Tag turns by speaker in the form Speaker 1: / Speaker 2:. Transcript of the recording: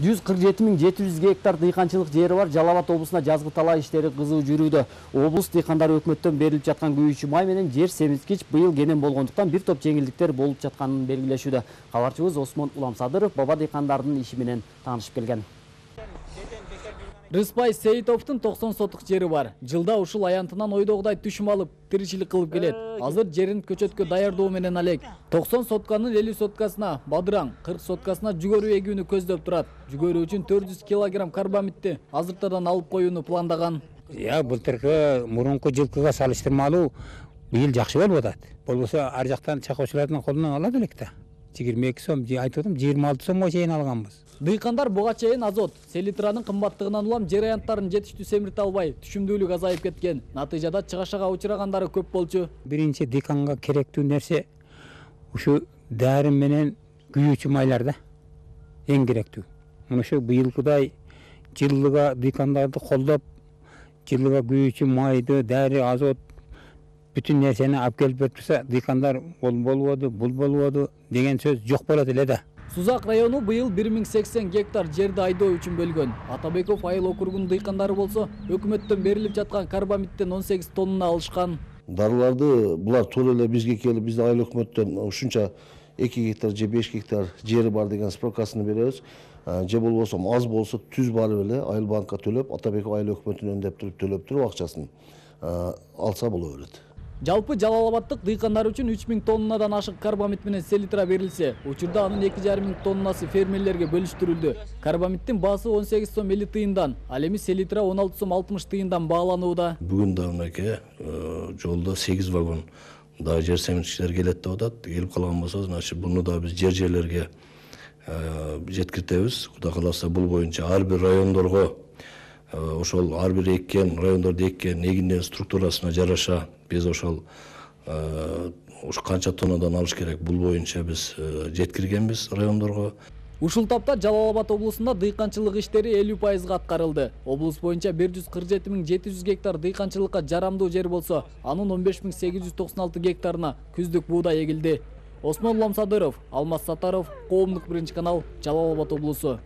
Speaker 1: 147.700 гектар дыйканчылык жери бар Жалал Абад облусунда жазгы талаа иштери кызуу жүрүүдө. Облус дыйкандары өкмөттөн берилип жаткан күйүүчү май менен жер семизгич быйыл кенен болгондуктан бир топ жеңилдиктер болуп жатканын белгилешүүдө. Кабарчыбыз Осмон Уламсадыров баба дыйкандардын иши менен таанышып келген. Рыспай Сейитовдун 90 сотук жери бар. Жылда ушул аянтынан ойдогудай түшүм алып, тиричилик кылып келет. Азыр жерин көчөткө даярдоо менен алек. 90 сотканын 50 соткасына бадыраң, 40 соткасына жүгөрү эгүүнү көздөп турат. Жүгөрү үчүн 400 килограмм карбамидти азыртадан алып коюуну пландаган.
Speaker 2: Былтыркы мурунку жылкыга салыштырмалуу быйыл жакшы болуп атат. Болбосо ар жактан чакоочулардын колунан алат элек да. 22 сом, айтып атам 26 сомго чейин алганбыз.
Speaker 1: Дыйкандар буга чейин азот, селитранын кымбаттыгынан улам жер аянттарын жетиштүү семирте албай, түшүмдүүлүк азайып кеткен. Натыйжада чыгашага учурагандары көп болчу.
Speaker 2: Биринчи дыйканга керектүү нерсе ушу дәрі менен күйүүчү майлар да. Эң керектүү. Мына ушу быйылкыдай жылыга дыйкандарды колдоп, жылыга күйүүчү майды, дәрі, азот бүтүн нерсени алып келип берип турса, дыйкандар ол болбоду, бул болбоду деген сөз жок болот эле да.
Speaker 1: Сузак району быйыл 1080 гектар жерди айдоо үчүн бөлгөн. Атабеков айыл округунун дыйкандары болсо, өкмөттөн берилип жаткан карбамидтен 18 тонна алышкан.
Speaker 3: Дарыларды булар туура эле бизге келип, биздин айыл өкмөттөн ушунча 2 гектар же 5 гектар жери бар деген справкасын беребиз. Же болбосо аз болсо түз барып эле айыл банкка төлөп, Атабеков айыл өкмөтүнөн өндөп туруп төлөп туруп акчасын алса боло берет.
Speaker 1: Жалпы Жалал Абадтык дыйкандар үчүн 3000 тоннадан ашык карбамид менен селитра берилсе, учурда анын 2500 тоннасы фермерлерге бөлүштүрүлдү. Карбамиддин баасы 18 сом 50 тыйындан, ал эми селитра 16 сом 60 тыйындан бааланууда.
Speaker 3: Бүгүн да мынакей жолдо 8 вагон да жер семирткичтер келет деп атат. Келип калган болсо, значит, буну да биз жерлерге жеткиртебиз. Кудай кааласа бул боюнча ар бир райондорго ошол ар бир эккен райондордо эккен эгиндин структурасына жараша биз ошол канча тоннадан алыш керек бул боюнча биз жеткиргенбиз райондорго.
Speaker 1: Ушул тапта Жалал Абад облусунда дыйканчылык иштери 50% аткарылды. Облус боюнча 147.700 гектар дыйканчылыкка жарамдуу жер болсо, анын 15.896 гектарына күздүк буудай эгилди. Осмон Уламсадыров, Алмаз Сатаров, Коомдук биринчи канал, Жалал Абад облусу.